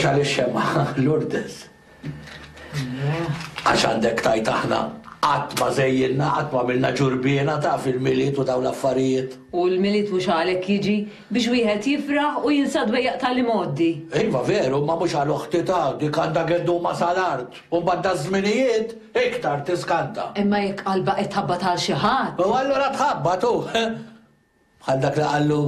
Xegħel ix-xemgħa, Lourdes. Għax għandek tgħid aħna qatt ma żejjinna, qatt ma għamilna ġurbiena taf il-Milied u dawn l-affarijiet. U l-Milied mhux għalhekk jiġi, biex wieħed jifraħ u jinsa d-dwejjaq tal-imgħoddi. Iva veru, imma mhux għal oħti ta, dik għandha gedduma sal-art, u mbagħad daż-żminijiet iktar tiskanta. Imma jekk qalbha qed tħabbat għal xi ħadd. U allura tħabbat hu. Bħal dak li qallu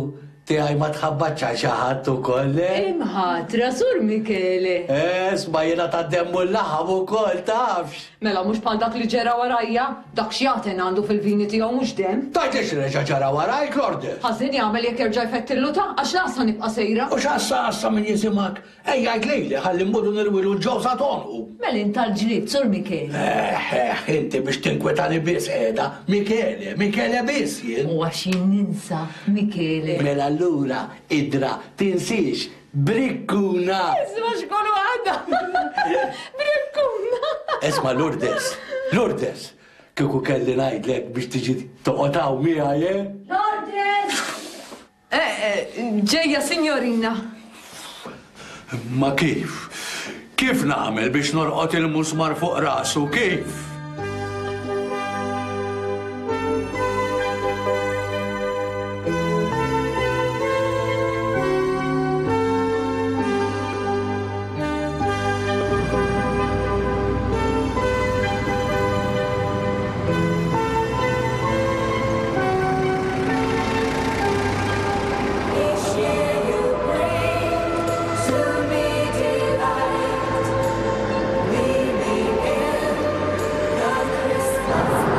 tiegħi ma tħabbatx għal xi ħadd ukoll, le? Imħatra, Sur Michele! Eh, isma' jiena tad-demm u l-laħam ukoll, tafx! Mela mhux bħal dak li ġera warajja, dak x'jagħten għandu fil-vini tiegħu mhux demm. Tgħidlix li reġa' ġera warajk, Lourdes? Ħażin jagħmel jekk jerġa' jfettillu ta' għax l-għassa nibqa' sejra. U x'għassa għassa min jisimgħek? Ejja għid lili ħalli mmorru nirwilu l-ġewża t'għonqu. Mela int għall-ġlied, Sur Michele. Eħ, eħ, inti biex tinkwetani biss qiegħda. Michele, Michele biss jien. U għax jien ninsa, Michele. Mela allura, idra, tinsiex, brikkuna! Isma' x'kolu għadha! Brikkuna! Isma' Lourdes, Lourdes, kieku kelli ngħidlek biex tiġi toqgħod hawn miegħi, eh? Lourdes! Ġejja, sinjorina. Ma kif? Kif nagħmel biex norqod il-musmar fuq rasu? Kif?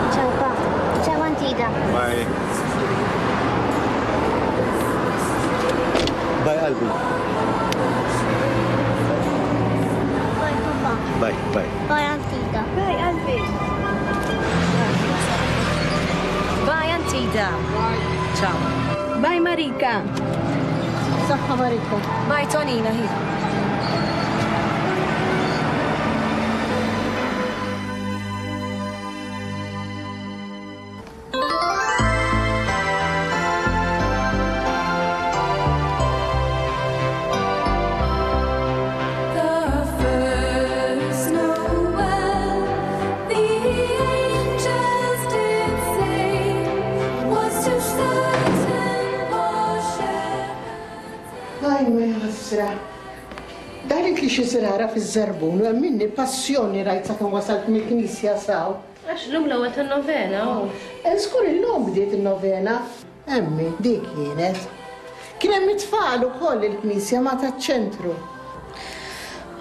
Ciao pa. Ciao Antida. Bye. Bye qalbi. Bye papa. Bye, bye. Bye Antida. Bye qalbi. Bye Antida. Ciao. Bye Marika. Saħħa Marika. Bye Tonina hi. Ajma jaħasra. Daħlitli xi żrara fiż-żarbun u emminni passjoni rajt sakemm wasalt mill-knisja s'hawn. Għax llum l-ewwel tan-novena hu. Żgur illum bdiet in-novena. Emmi, dik kienet. Kien hemm it-tfal ukoll il-knisja ma' taċ-ċentru.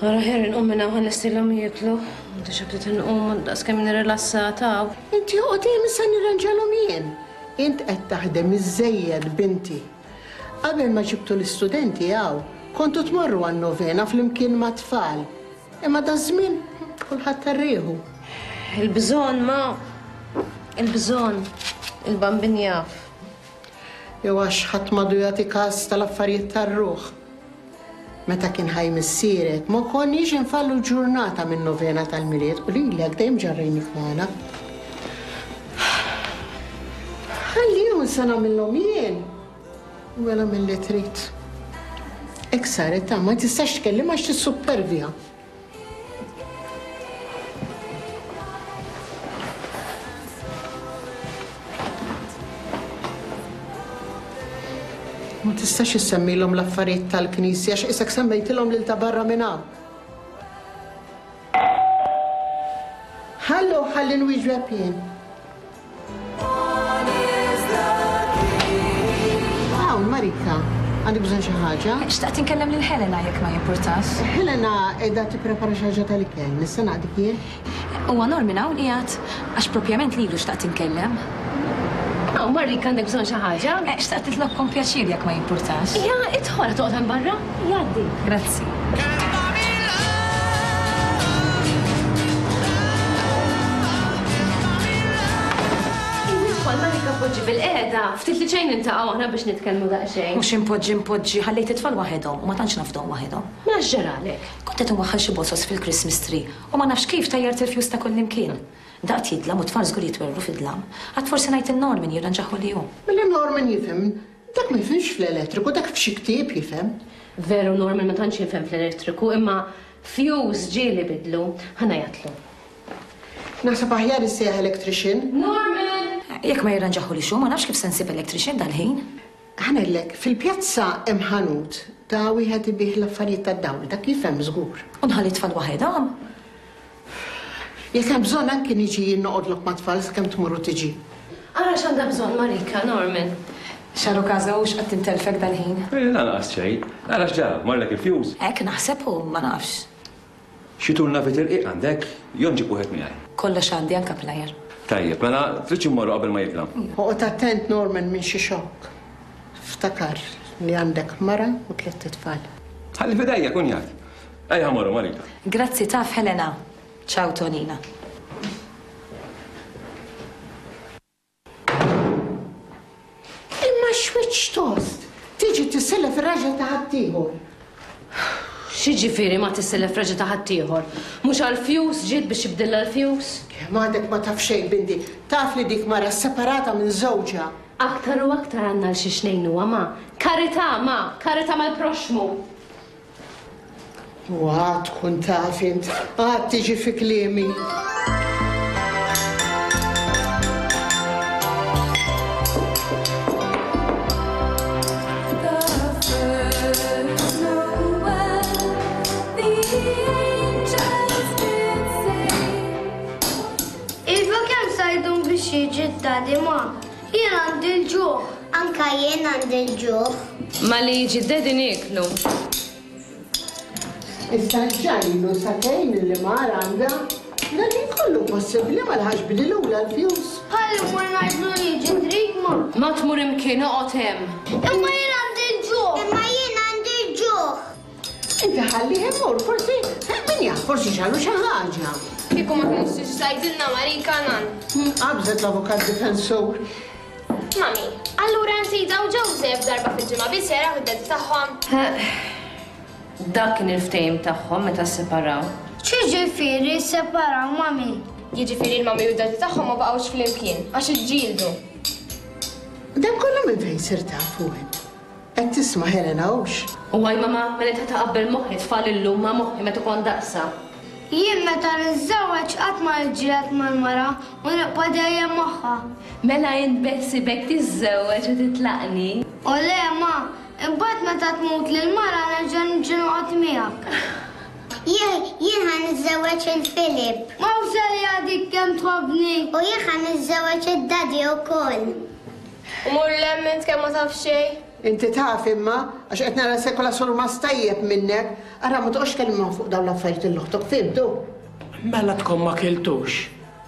Ara aħjar inqum minn hawn ħa nlestilhom jieklu. Diġà bdiet inqum daqs kemm nirrilassata hawn. Inti oqgħod hemm issa nirranġalhom jien. Int qed taħdem iżżejjed binti. Qabel ma ġibtu l-istudenti hawn, kontu tmorru għan-novena flimkien mat-tfal. Imma daż-żmien kulħadd għar-riħu. Il-bżonn, ma. Il-bżonn. Il-Bambin jaf. Jew għax ħadd m'għadu jagħti kas tal-affarijiet tar-ruħ. Meta kien ħaj missierek, ma konniex infallu ġurnata min-novena tal-Milied u lilek dejjem ġarrejnik magħna. Ħallihom sa nagħmilhom jien. Mela milli trid. Hekk saret ta' ma tistax tkellimha għax tissuppervja. Ma tistax issemmilhom l-affarijiet tal-Knisja għax qisek semmejtilhom lil ta' barra minn hawn. Ħallu ħalli nwieġbeb jien. Hawn, Marika, għandek bżonn xi ħaġa? Xtaqt inkellem lil Helena jekk ma jimpurtax. Helena qiegħda tipprepara xi ħaġa tal-ikel, nista' naqdik jien? Huwa Norman hawn qiegħed? Għax propjament lilu xtaqt inkellem. Hawn, Marika, għandek bżonn xi ħaġa? Xtaqt nitlobkom pjaċir jekk ma jimpurtax. Ija, idħol, ħa toqgħod hemm barra? Jgħaddi. Grazzi. Idħol, Marika poġġi bil-qiegħda. Ftit li xejn niltaqgħu aħna biex nitkellmu daqsxejn. Mhux inpoġġi npoġġi, ħallejt it-tfal waħedhom u ma tantx nafdhom waħedhom. Mela x'ġaralek? Kont qed inwaħħal xi bozoz fil-Christmas tree u ma nafx kif tajjart il-fjus ta' kullimkien. Daqt jidlam u t-tfal żgur jitwerwru fid-dlam. Għad forsi ngħid lil Norman jirranġahu li hu. Mela Norman jifhem Dak ma jifhimx fl-elettriku, dak f'xi ktieb jifhem. Veru Norman ma tantx jifhem fl-elettriku, imma fuse ġieli bidlu. Ħa ngħajjatlu. Naħseb aħjar issejjaħ electrician. Norman! Jekk ma jirranġahulix hu, ma nafx kif se nsib electrician dal-ħin. Ħa ngħidlek, fil-pjazza hemm ħanut ta' wieħed ibigħ l-affarijiet tad-dawl, dak jifhem żgur. U nħalli t-tfal waħedhom? Jekk hemm bżonn anki niġi jien noqgħodlok mat-tfal sakemm tmur u tiġi. Ara x'għandha bżonn Marika, Norman. X'għarukaża hux qed tintelfek dal-ħin? Lanqas xejn. Ara x'ġara, marlek il-fuse? Hekk naħseb u ma nafx. Xi turnavit irqiq għandek? Jew nġib wieħed miegħi? Kollox għandi anke plier. Tajjeb, mela tridx immorru qabel ma jidlam. Oqgħod attent Norman minn xi xokk. Ftakar li għandek mara u tlett itfal. Ħalli f'idejja, kunjat. Ejja ħa mmorru, Marika. Grazzi taf Helena. Ciao Tonina. Imma x'wiċċ tost! Tiġi tisselef ir-raġel ta' ħaddieħor. X'jiġifieri ma tisselef raġel ta' ħaddieħor? Mhux għall-fjus ġiet biex ibdillha l-fjus? Kemm għadek ma taf xejn, binti. Taf li dik mara sseparata minn żewġha. Aktar u aktar għandna għal xiex ngħinuha, ma. Karità, ma! Karità mal-proxxmu! U għad tkun taf int, għad tiġi fi kliemi. Iva kemm sa jdum biex jiġi d-daddy ma? Jien għandi l-ġuħ. Anka jien għandi l-ġuħ. Malli jiġi d-daddy nieklu. Issa ġa ilu sagħtejn li mar għandha. Dan ħin kollu possibbli ma laħaqx bidilulha l-fjus. Ħalli mmur ngħidlu li jiġi trid ma. Ma tmur imkien oqgħod hemm. Imma jien għandi l-ġuħ. Imma jien għandi l-ġuħ. Inti ħallih imur, forsi, min jaf, forsi ġralu xi ħaġa. Kieku ma kinitx tiġi tgħidilna Marika Nan. Qabżet l-avukat difensur. Mami, allura Nsida u Joseph darba fil-ġimgħa biss jaraw id-daddy tagħhom? Dak kien il-ftehim tagħhom meta sseparaw. X'jiġifieri sseparaw, Mami? Jiġifieri l-mami u d-daddy tagħhom ma baqgħux flimkien għax iġġieldu. Dan kollu minn fejn sirt tafu int? Qed tisma' Helena hux? U għaj mama, mela ta' taqabbel moħħi tfal illum ma' moħħi meta kont daqsha. Jien meta niżżewweġ qatt ma niġġieled mal-mara u nibqa' dejjem magħha. Mela int beħsiebek tiżżewweġ u titlaqni? O le ma, imbagħad meta tmutli l-mara nerġa' niġi noqgħod miegħek. Jien jien ħa niżżewweġ il Philip. Mawżelja dik kemm tħobbni! U jien ħa niżżewweġ id-daddy ukoll. U mur 'l hemm int kemm ma taf xejn. Inti taf imma, għax qed nara sekola surmast tajjeb minnek. Ara ma toqgħodx tkellimha fuq dawn l-affarijiet lil oħtok, fhimtu? Mela tkom ma kiltux.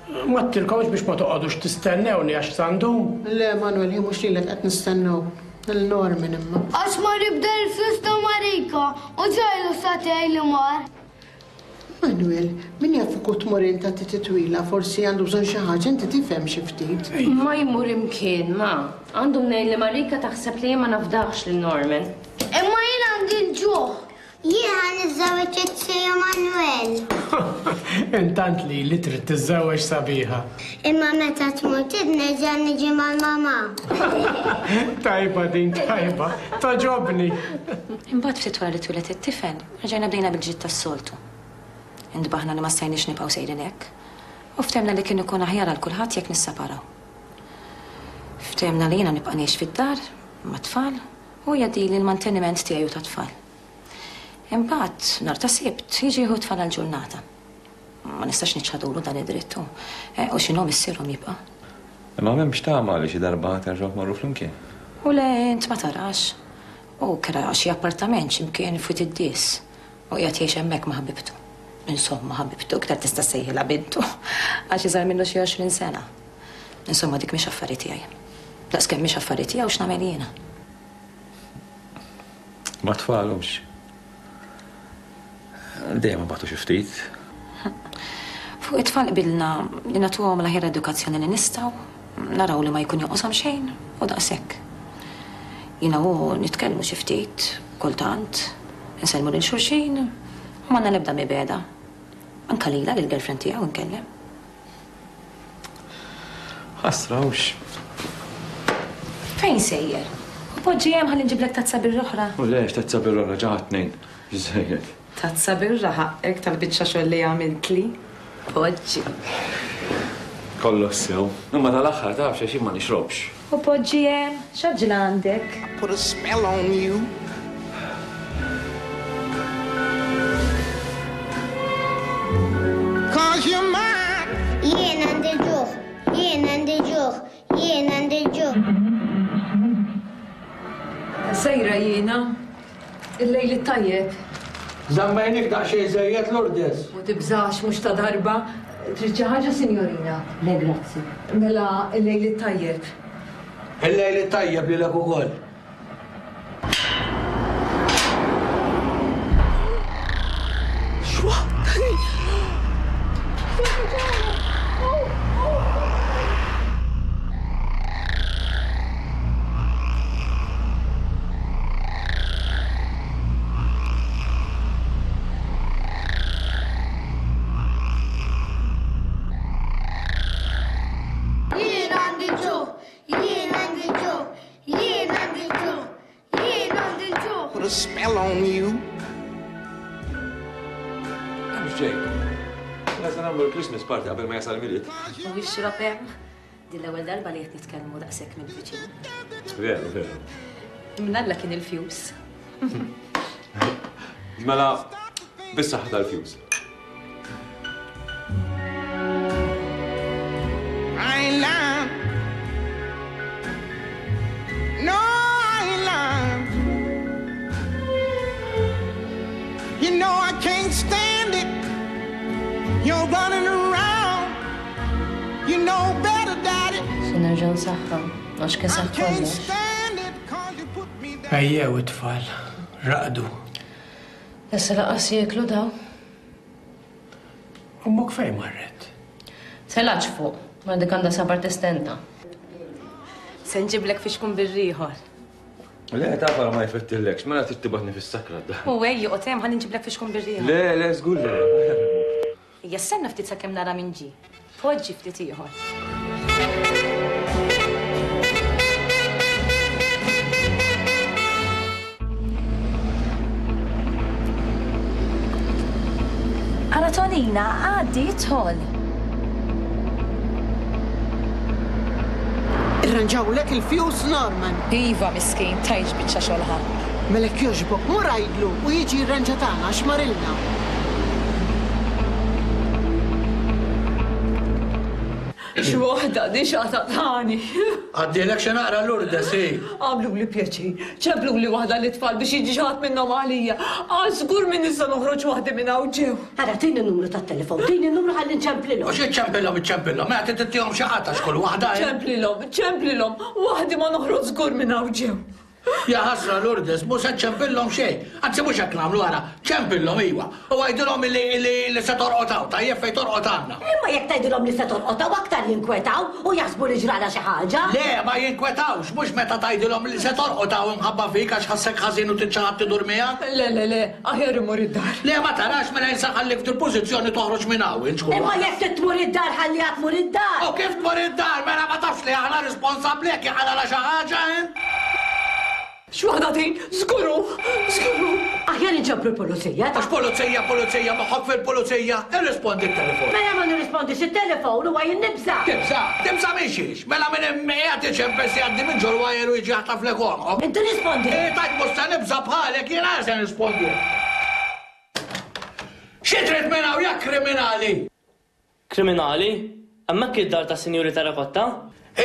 M'għedtilkomx biex ma toqgħodux tistennewni għax sa ndum? Le, Manuel, ħi mhux lilek qed nistennew. Lil Norman imma. Għax mar jibdel il-flus ta' Marika u ġa ilu sagħtejn li mar. Manuel, min jaf kieku tmur int għat titwila, forsi għandu bżonn xi ħaġa, inti tifhem xi ftit. Ma jmur imkien, ma. Għandu mnejn li Marika taħseb li jien ma nafdahx lil Norman. Imma jien għandi l-ġuħ. Jien ħa niżżewweġ it-Tiju Manuel. Intant lili trid tiżżewweġ sabiħa. Imma meta tmut int nerġa' niġi mal-mamà. Tajba din tajba. Togħġobni. Imbagħad ftit wara li twieled it-tifel, Reġajna bdejna bil-ġlied tas-soltu. Intbaħna li ma stajniex nibqgħu sejrin hekk, u ftehmna li kien ikun aħjar għal kulħadd jekk nisseparaw. Ftehmna li jiena nibqa' ngħix fid-dar, mat-tfal, u hu jgħaddili l-manteniment tiegħi u tat-tfal. Imbagħad, nhar ta' Sibt, jiġi jieħu t-tfal għal ġurnata. Ma nistax niċħadulu dan id-dritt hu. U x'inhu missierhom jibqa'. Imma m'hemmx tama li xi darba terġgħu tmorru flimkien? U le, int ma tarax. Hu kera xi appartament xi mkien f'Wied id-Dies u qiegħed jgħix hemmhekk ma' ħabibtu. Insomma, ħabibtu, iktar tista' ssejħilha bintu, għax iżgħar minnu xi 20 sena. Insomma, dik mhix affari tiegħi. Daqskemm mhix affari tiegħu x'nagħmel jiena. Mat-tfal hux. Dejjem ibatu xi ftit. Fuq it-tfal qbilna li nagħtuhom l-aħjar edukazzjoni li nistgħu, naraw li ma jkun jonqoshom xejn u daqshekk. Jiena u hu nitkellmu xi ftit, kultant, insellmu lil xulxin u m'għandna l-ebda mibegħda. Anke lilha, lill-girlfriend tiegħu nkellem. Ħasra hux. Fejn sejjer? U poġġi hemm ħalli nġiblek tazza birra oħra. U le, x'tazza birra oħra, ġa ħadt tnejn. Biżżejjed. Tazza birra ħaqqek tal-biċċa xogħol li għamiltli. Poġġi. Kollox sew. Imma tal-aħħar taf għax jien ma nixrobx. U poġġi hemm, x'għaġla għandek? Put a spell on you. Cause you're mine. Jien għandi l-ġuħ, jien għandi l-ġuħ, jien għandi l-ġuħ. Sejra jiena. Il-lejl it-tajjeb. Żammejnik daqsxejn żejjed Lourdes. U tibżax mhux ta' darba. Trid xi ħaġa sinjorina? Le grazzi. Mela il-lejl it-tajjeb. Il-lejl it-tajjeb lilek ukoll. Jien għandi ġuħ, jien għandi ġuħ, jien għandi ġuħ, jien għandi ġuħ. Put a spell on you. Hemmx ġej. Mela se nagħmlu l-Christmas party qabel ma jasal Milied. U ixrob hemm. Din l-ewwel darba li qed nitkellmu daqshekk mill-viċin. Veru, veru. Mnalla kien il-fjus. Mela, bis-saħħa tal-fjus. I ain't lying. No, I ain't lying. You know I can't stand it. You're running around. You know better, Daddy. Se nerġa' nsaħħan, għax kesaħ I can't kollox. stand it 'cause you put me down. Ejjew it-tfal, raqdu. Issa laqas jieklu daw. Ommok fejn marret? Telax fuq, ma dik għandha sabar tistenta. Se nġiblek fixkun birrieħor. Le, taf għala ma jfettillekx, mela trid tibgħatni fis-sakra d-dar. U ejja, oqgħod hemm ħalli nġiblek fixkun birrieħor. Le, le, żgur le. Ejja, stenna ftit sakemm nara min ġie. Poġġi ftit ieħor. Ara Tonina, għaddi, idħol. Irranġawlek il-fjus Norman. Iva, miskin, tgħidx biċċa xogħol ħa. Mela jekk jogħġbok mur għidlu u jiġi jirranġa tagħna għax marilna. X'waħda di x'għatatani. Għaddielek xi naqra Lourdes, hi. Għamluli pjaċir, ċempluli waħda lit-tfal biex jiġi xi ħadd minnhom għalija. Għax żgur minn issa noħroġ waħdi minn hawn ġew. Ara, tini n-numru tat-telefon, tini n-numru ħalli nċemplilhom. U xi ċċempilhom iċċempilhom, mela trid ittihom xi ħadd għax kull waħda. Ċemplilhom, ċemplilhom, waħdi ma noħroġ żgur minn hawn ġew. Ja ħasra Lourdes, mhu se ċċempillhom xejn. Anzi mhux hekk nagħmlu ara, ċempillhom iva. U għidilhom illi illi li se torqod hawn, tajjeb fejn torqod għandna. Imma jekk tgħidilhom li se torqod hawn aktar jinkwetaw u jaħsbu li ġralha xi ħaġa. Le, ma jinkwetawx, mhux meta tgħidilhom li se torqod hawn imħabba fik għax ħassek ħażin u trid xi ħadd idur miegħek. Le, le, le, aħjar immur id-dar. Le, ma tarax mela jien se nħallik f'dil-pożizzjoni toħroġ minn hawn, int x'kull Imma waħda. jekk trid tmur id-dar ħalliha tmur id-dar. U kif tmur id-dar mela ma tafx li aħna responsabbli jekk jinqalgħalha xi ħaġa, int? X'waħda din? Żgur hu! Żgur hu! Aħjar inġabru l-pulizija. Għax pulizija, pulizija, moħħok fil-pulizija, irrispondi t-telefon. Mela ma nirrispondix it-telefon huwa jien nibża'. Tibża'? Tibża' minn xiex? Mela minn hemm qiegħed iċempel se jgħaddi minn ġol-wajer u jiġi jaħtaflek għonqok. Inti rispondi. Eh, tajt mhux se nibża' bħalek, jien għal se nirrispondi. Xi trid minn hawn ja kriminali? Kriminali? Hemmhekk hi d-dar tas-Sinjuri Terrakotta?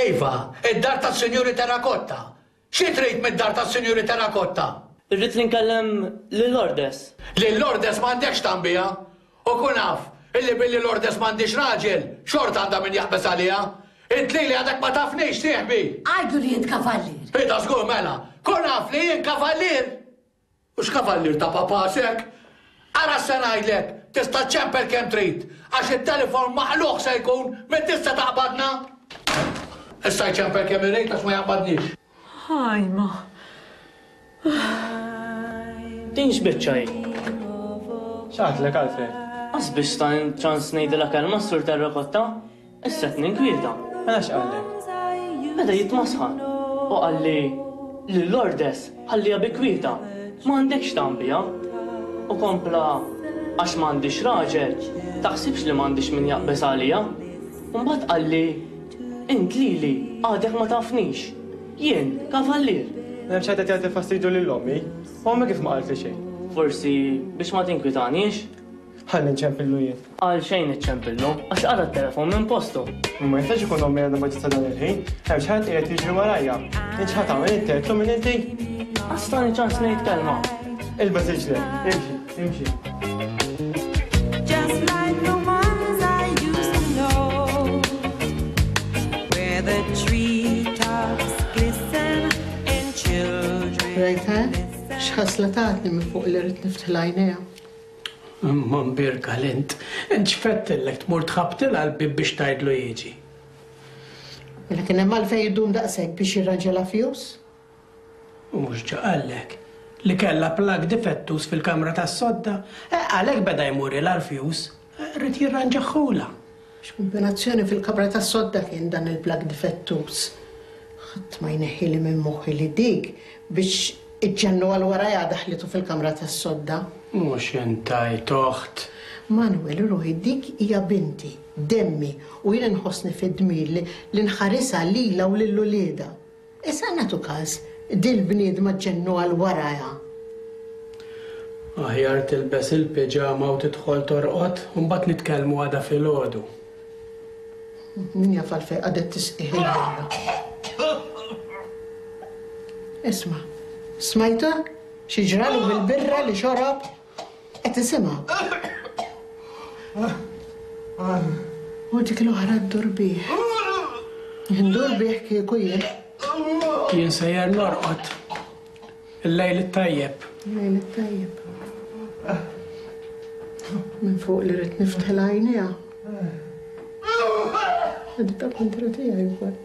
Iva, id-dar tas-Sinjuri Terrakotta. Xi trid mid-dar tas-Sinjuri Terrakotta? Irrid li nkellem lil Lourdes. Lil Lourdes m'għandekx tgħambiha. U kun af, illi billi Lourdes m'għandhiex raġel, xorta għandha min jaqbeż għaliha. Int lili għadek ma tafnix, sieħbi! Għidlu li int kavallier. Hi ta' żgur mela. Kun af li jien kavallier! U x'kavallier ta' papà s'hekk? Ara x'se ngħidlek, tista' ċċempel kemm trid, għax it-telefon maqlugħ se jkun, min tista' taqbadna? Issa jċempel kemm irid għax ma jaqbadniex. Ħajma. Din x'biċċa hi? X'għadlek Alfred? Qas biex tani ċans ngħidilha kelma s-Sur Terrakotta? Issa qed ninkwieta. Mela x'qallek? Beda jitmasħan u qalli. Lil Lourdes ħalliha bi kwietha, m'għandekx x'tagħmel biha. U kompla, Għax m'għandix raġel, taħsibx li m'għandix min jaqbeż għalija. U mbagħad qalli, Int lili għadek ma tafnix. Jien kavallier. M'hemm xejn qed jagħti fastidju lil ommi. Ommi kif ma qaltli xejn? Forsi biex ma tinkwitanix? Ħalli nċempillu jien. Għalxejn iċċempillu, għax qala' t-telefon minn postu. Ma jistax ikun ommi għadha ma ġiet sa dan il-ħin. Hemm xi ħadd qiegħed jiġri warajja. Int x'ħa tagħmel int għedtlu min inti? Qas tani ċans ngħid kelma. Ilbes riġlek, imxi, imxi. Just like the ones I used to know Where the treetops glisten and children Rajtha? X'ħasla tatni minn fuq li ridt niftħilha għajnejha. Imma mbierka l-int, int x'fettillek tmur tħabbtilha l-bieb biex tgħidlu jiġi? Mela kien hemm għalfejn idum daqshekk biex jirranġalha fuse? U mhux ġa qallek li kellha plug difettuż fil-kamra tas-sodda? Eh, għalhekk beda jmurilha l-fuse, ried jirranġahulha. X'kumbinazzjoni fil-kamra tas-sodda kien dan il-plug difettuż. Ħadd ma jneħħili minn moħħi li dik biex iġġennu għal warajha daħlitu fil-kamra tas-sodda. Mhux int għidt oħt. Manuel, ruħi, dik hija binti, demmi, u jien inħossni fid-dmir li li nħarisha lilha u lil uliedha. Issa nagħtu każ dil-bniedma ġġennu għal warajha. Aħjar tilbes il-piġama u tidħol torqod, u mbagħad nitkellmu għada filgħodu. Min jaf għalfejn qagħdet tisqih il-birra. Isma', smajtha? Xi ġralu bil-birra li xorob? Qed isimha. U dik l-oħra ddur bih. Ndur bih kieku jien. Jien sejjer norqod. Il-lejl it-tajjeb. Il-lejl it-tajjeb. Minn fuq li rrid niftħilha għajnejha. Għadita kontra tiegħi wkoll.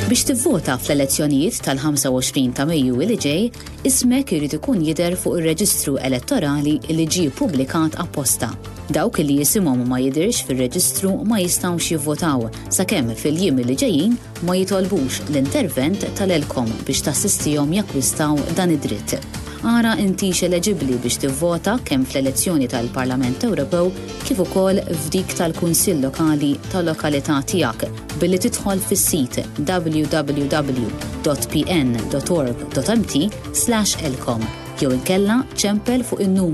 Biex tivvota fl-elezzjonijiet tal-25 ta' Mejju li ġej, ismek irid ikun jidher fuq ir-reġistru elettorali li ġie ppubblikat apposta. Dawk li isimhom ma jidhirx fir-reġistru ma jistgħux jivvotaw sakemm fil-jiem li ġejjin ma jitolbux l-intervent tal-ELCOM biex tassistihom jakkwistaw dan id-dritt. Ara intix eleġibbli biex tivvota kemm fl-elezzjoni tal-Parlament Ewropew kif ukoll f'dik tal-Kunsill Lokali tal-lokalità tiegħek billi tidħol fis-sit www.pn.org.mt/elcom jew inkella ċempel fuq in-numru.